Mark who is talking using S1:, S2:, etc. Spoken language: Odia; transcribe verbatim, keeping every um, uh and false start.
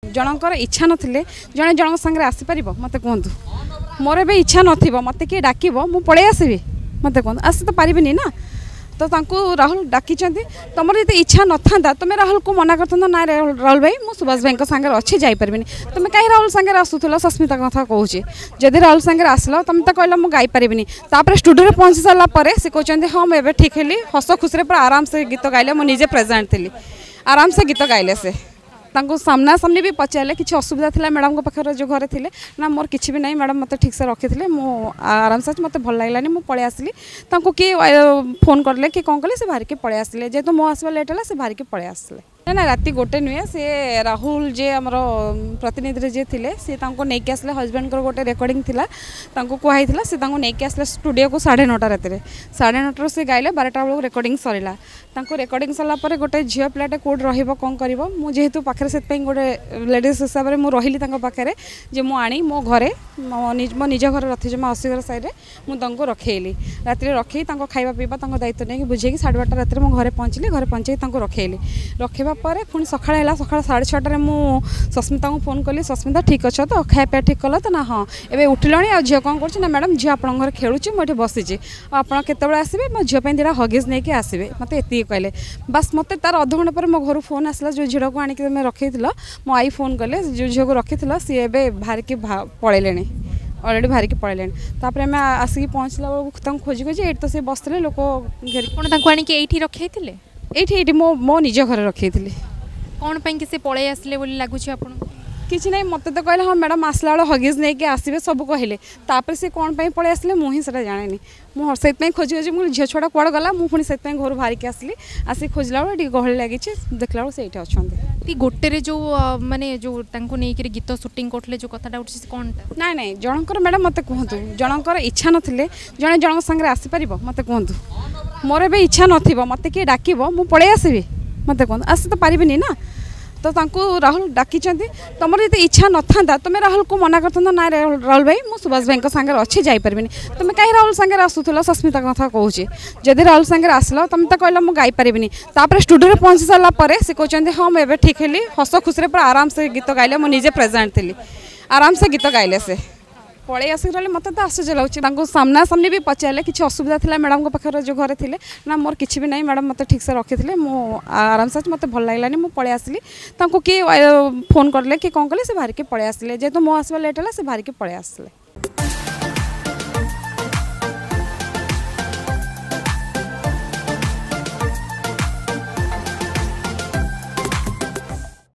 S1: ଜଣଙ୍କର ଇଚ୍ଛା ନଥିଲେ ଜଣେ ଜଣଙ୍କ ସାଙ୍ଗରେ ଆସିପାରିବ? ମୋତେ କୁହନ୍ତୁ। ମୋର ଏବେ ଇଚ୍ଛା ନଥିବ, ମୋତେ କିଏ ଡାକିବ, ମୁଁ ପଳେଇ ଆସିବି? ମୋତେ କୁହନ୍ତୁ। ଆସି ତ ପାରିବିନି ନା। ତ ତାଙ୍କୁ ରାହୁଲ ଡାକିଛନ୍ତି। ତୁମର ଯଦି ଇଚ୍ଛା ନଥାନ୍ତା, ତୁମେ ରାହୁଲକୁ ମନା କରିଥାନ୍ତ ନା, ରାହୁଲ ଭାଇ, ମୁଁ ସୁଭାଷ ଭାଇଙ୍କ ସାଙ୍ଗରେ ଅଛି, ଯାଇପାରିବିନି। ତୁମେ କାହିଁ ରାହୁଲ ସାଙ୍ଗରେ ଆସୁଥିଲ? ସସ୍ମିତା କଥା କହୁଛି। ଯଦି ରାହୁଲ ସାଙ୍ଗରେ ଆସିଲ, ତୁମେ ତ କହିଲ ମୁଁ ଗାଇପାରିବିନି। ତାପରେ ଷ୍ଟୁଡ଼ିଓରେ ପହଞ୍ଚି ସାରିଲା ପରେ ସେ କହୁଛନ୍ତି ହଁ, ମୁଁ ଏବେ ଠିକ୍ ହେଲି। ହସ ଖୁସିରେ ପୁରା ଆରାମସେ ଗୀତ ଗାଇଲେ। ମୁଁ ନିଜେ ପ୍ରେଜେଣ୍ଟ ଥିଲି, ଆରାମସେ ଗୀତ ଗାଇଲେ ସେ। ତାଙ୍କୁ ସାମ୍ନାସାମ୍ନି ବି ପଚାରିଲେ, କିଛି ଅସୁବିଧା ଥିଲା ମ୍ୟାଡ଼ାମଙ୍କ ପାଖରେ ଯେଉଁ ଘରେ ଥିଲେ? ନା, ମୋର କିଛି ବି ନାହିଁ ମ୍ୟାଡ଼ାମ୍, ମୋତେ ଠିକ୍ସେ ରଖିଥିଲେ, ମୁଁ ଆରାମସେ ଅଛି, ମୋତେ ଭଲ ଲାଗିଲାନି, ମୁଁ ପଳେଇ ଆସିଲି। ତାଙ୍କୁ କିଏ ଫୋନ୍ କଲେ କି କ'ଣ କଲେ, ସେ ବାହାରିକି ପଳେଇ ଆସିଲେ। ଯେହେତୁ ମୋ ଆସିବା ଲେଟ୍ ହେଲା, ସେ ବାହାରିକି ପଳେଇ ଆସିଲେ। ନା ନା, ରାତି ଗୋଟେ ନୁହେଁ। ସେ ରାହୁଲ ଯିଏ ଆମର ପ୍ରତିନିଧିରେ ଯିଏ ଥିଲେ, ସିଏ ତାଙ୍କୁ ନେଇକି ଆସିଲେ। ହଜବେଣ୍ଡଙ୍କର ଗୋଟେ ରେକର୍ଡ଼ିଂ ଥିଲା, ତାଙ୍କୁ କୁହାହେଇଥିଲା। ସେ ତାଙ୍କୁ ନେଇକି ଆସିଲେ ଷ୍ଟୁଡ଼ିଓକୁ ସାଢ଼େ ନଅଟା ରାତିରେ। ସାଢ଼େ ନଅଟାରୁ ସେ ଗାଇଲେ, ବାରଟା ବେଳକୁ ରେକର୍ଡ଼ିଂ ସରିଲା। ତାଙ୍କୁ ରେକର୍ଡ଼ିଂ ସରିଲା ପରେ ଗୋଟେ ଝିଅ ପିଲାଟେ କେଉଁଠି ରହିବ, କ'ଣ କରିବ? ମୁଁ ଯେହେତୁ ପାଖରେ, ସେଥିପାଇଁ ଗୋଟେ ଲେଡ଼ିଜ୍ ହିସାବରେ ମୁଁ ରହିଲି ତାଙ୍କ ପାଖରେ, ଯେ ମୁଁ ଆଣି ମୋ ଘରେ, ମୋ ନିଜ ଘର ରଥିଜମା ଅଶୀଘର ସାଇଡ଼ରେ ମୁଁ ତାଙ୍କୁ ରଖେଇଲି। ରାତିରେ ରଖେଇ ତାଙ୍କ ଖାଇବା ପିଇବା ତାଙ୍କ ଦାୟିତ୍ୱ ନେଇକି ବୁଝେଇକି ସାଢ଼େ ବାରଟା ରାତିରେ ମୁଁ ଘରେ ପହଞ୍ଚିଲି। ଘରେ ପହଞ୍ଚେଇକି ତାଙ୍କୁ ରଖେଇଲି। ରଖେଇବା ପରେ ପୁଣି ସକାଳ ହେଲା। ସକାଳ ସାଢ଼େ ଛଅଟାରେ ମୁଁ ସସ୍ମିତାଙ୍କୁ ଫୋନ୍ କଲି, ସସ୍ମିତା, ଠିକ୍ ଅଛ ତ? ଖାଇବା ପିଇବା ଠିକ୍ କଲ ତ? ନା, ହଁ, ଏବେ ଉଠିଲଣି, ଆଉ ଝିଅ କ'ଣ କରୁଛି? ନା ମ୍ୟାଡ଼ାମ୍, ଝିଅ ଆପଣଙ୍କ ଘରେ ଖେଳୁଛି, ମୁଁ ଏଠି ବସିଛି, ଆଉ ଆପଣ କେତେବେଳେ ଆସିବେ? ମୋ ଝିଅ ପାଇଁ ଦୁଇଟା ହଗିଜ୍ ନେଇକି ଆସିବେ। ମୋତେ ଏତିକି କହିଲେ ବାସ୍। ମୋତେ ତାର ଅଧଘଣ୍ଟା ପରେ ମୋ ଘରୁ ଫୋନ୍ ଆସିଲା, ଯେଉଁ ଝିଅକୁ ଆଣିକି ତୁମେ ରଖେଇଥିଲ, ମୋ I phone କଲେ, ଯେଉଁ ଝିଅକୁ ରଖିଥିଲ ସିଏ ଏବେ ବାହାରିକି ପଳେଇଲେଣି, ଅଲରେଡ଼ି ବାହାରିକି ପଳେଇଲେଣି। ତାପରେ ଆମେ ଆସିକି ପହଞ୍ଚିଲା ବେଳକୁ ତାଙ୍କୁ ଖୋଜି ଖୋଜି ଏଇଠି ତ ସେ ବସିଥିଲେ ଲୋକ ଘେରି।
S2: ଆପଣ ତାଙ୍କୁ ଆଣିକି ଏଇଠି ରଖେଇଥିଲେ?
S1: ଏଇଠି ଏଇଠି ମୋ ମୋ ନିଜ ଘରେ ରଖେଇଥିଲି।
S2: କ'ଣ ପାଇଁ କି ସେ ପଳେଇ ଆସିଲେ ବୋଲି ଲାଗୁଛି ଆପଣଙ୍କୁ?
S1: କିଛି ନାହିଁ, ମୋତେ ତ କହିଲେ ହଁ ମ୍ୟାଡ଼ାମ୍, ଆସିଲା ବେଳେ ହଗିଜ୍ ନେଇକି ଆସିବେ, ସବୁ କହିଲେ। ତାପରେ ସେ କ'ଣ ପାଇଁ ପଳେଇ ଆସିଲେ ମୁଁ ହିଁ ସେଟା ଜାଣିନି। ମୁଁ ସେଥିପାଇଁ ଖୋଜି ଖୋଜି, ମୁଁ ଝିଅ ଛୁଆଟା କୁଆଡ଼େ ଗଲା, ମୁଁ ପୁଣି ସେଥିପାଇଁ ଘରୁ ବାହାରିକି ଆସିଲି। ଆସିକି ଖୋଜିଲା ବେଳେ ଟିକେ ଗହଳି ଲାଗିଛି, ଦେଖିଲା ବେଳକୁ ସେ ଏଇଠି ଅଛନ୍ତି।
S2: ଗୋଟେରେ ଯେଉଁ ମାନେ ଯେଉଁ ତାଙ୍କୁ ନେଇକିରି ଗୀତ ସୁଟିଂ କରୁଥିଲେ, ଯେଉଁ କଥାଟା ଉଠୁଛି, ସେ କ'ଣଟା?
S1: ନାଇଁ ନାଇଁ, ଜଣଙ୍କର ମ୍ୟାଡ଼ାମ୍, ମୋତେ କୁହନ୍ତୁ, ଜଣଙ୍କର ଇଚ୍ଛା ନଥିଲେ ଜଣେ ଜଣଙ୍କ ସାଙ୍ଗରେ ଆସିପାରିବ? ମୋତେ କୁହନ୍ତୁ। ମୋର ଏବେ ଇଚ୍ଛା ନଥିବ, ମୋତେ କିଏ ଡାକିବ, ମୁଁ ପଳେଇ ଆସିବି? ମୋତେ କୁହନ୍ତୁ। ଆସି ତ ପାରିବିନି ନା। ତ ତାଙ୍କୁ ରାହୁଲ ଡାକିଛନ୍ତି। ତୁମର ଯଦି ଇଚ୍ଛା ନଥାନ୍ତା, ତୁମେ ରାହୁଲକୁ ମନା କରିଥାନ୍ତ ନା, ରାହୁଲ ଭାଇ, ମୁଁ ସୁଭାଷ ଭାଇଙ୍କ ସାଙ୍ଗରେ ଅଛି, ଯାଇପାରିବିନି। ତୁମେ କାହିଁ ରାହୁଲ ସାଙ୍ଗରେ ଆସୁଥିଲ? ସସ୍ମିତା କଥା କହୁଛି। ଯଦି ରାହୁଲ ସାଙ୍ଗରେ ଆସିଲ, ତୁମେ ତ କହିଲ ମୁଁ ଗାଇପାରିବିନି। ତାପରେ ଷ୍ଟୁଡ଼ିଓରେ ପହଞ୍ଚି ସାରିଲା ପରେ ସେ କହୁଛନ୍ତି ହଁ, ମୁଁ ଏବେ ଠିକ୍ ହେଲି। ହସ ଖୁସିରେ ପୁରା ଆରାମସେ ଗୀତ ଗାଇଲେ। ମୁଁ ନିଜେ ପ୍ରେଜେଣ୍ଟ ଥିଲି, ଆରାମସେ ଗୀତ ଗାଇଲେ। ସେ ପଳେଇ ଆସିକି ରହିଲେ, ମୋତେ ତ ଆଶ୍ଚର୍ଯ୍ୟ ଲାଗୁଛି। ତାଙ୍କୁ ସାମ୍ନାସାମ୍ନି ବି ପଚାରିଲେ, କିଛି ଅସୁବିଧା ଥିଲା ମ୍ୟାଡ଼ାମଙ୍କ ପାଖରେ ଯେଉଁ ଘରେ ଥିଲେ? ନା, ମୋର କିଛି ବି ନାହିଁ ମ୍ୟାଡ଼ାମ୍, ମୋତେ ଠିକ୍ସେ ରଖିଥିଲେ, ମୁଁ ଆରାମସେ ଅଛି, ମୋତେ ଭଲ ଲାଗିଲାନି, ମୁଁ ପଳେଇ ଆସିଲି। ତାଙ୍କୁ କିଏ ଫୋନ୍ କଲେ କି କ'ଣ କଲେ, ସେ ବାହାରିକି ପଳେଇ ଆସିଲେ। ଯେହେତୁ ମୋ ଆସିବା ଲେଟ୍ ହେଲା, ସେ ବାହାରିକି ପଳେଇ ଆସିଲେ।